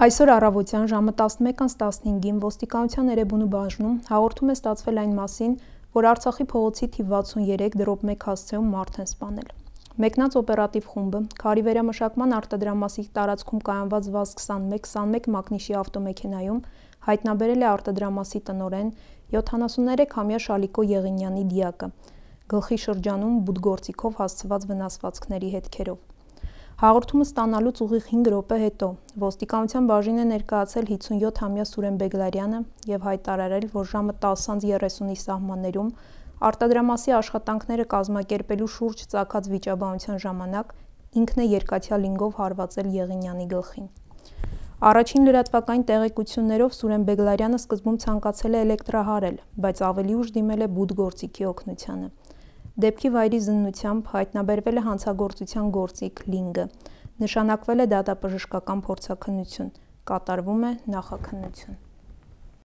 Այսօր առավոտյան ժամը 11:15-ին ոստիկանության Էրեբունու բաժնում հաղորդում է ստացվել այն մասին, որ Արցախի փողոցի թիվ 63/1 հասցեում մարդ են սպանել։ Մեկնած օպերատիվ խումբը Քարի վերամշակման արտադրամասի տարածքում կայանված ՎԱԶ-21 մակնիշի ավտոմեքենայում հայտնաբերել է արտադրամասի տնօրեն 73-ամյա Շալիկո Եղինյանի դիակը, գլխի շրջանում բուդգործիքով հասցված վնասվածքների հետքերով։ Հաղորդումը ստանալուց ուղիղ 5 րոպե հետո ոստիկանության բաժին է ներկայացել 57-ամյա Սուրեն Բեգլարյանը եւ հայտարարել, որ ժամը 10:30-ի սահմաններում արտադրամասի աշխատանքները կազմակերպելու շուրջ ծագած վիճաբանության ժամանակ ինքն է երկաթյա լինգով հարվածել Եղինյանի գլխին։ Առաջին լրատվական տեղեկություններով Սուրեն Բեգլարյանը սկզբում ցանկացել է էլեկտրահարել, բայց ավելի ուշ դիմել է բուդգործիքի օգնությանը։ Դեպքի վայրի զննությամբ հայտնաբերվել է հանցագործության գործիք լինգը, նշանակվել է դատաբժշկական փորձաքննություն, կատարվում է նախաքննություն։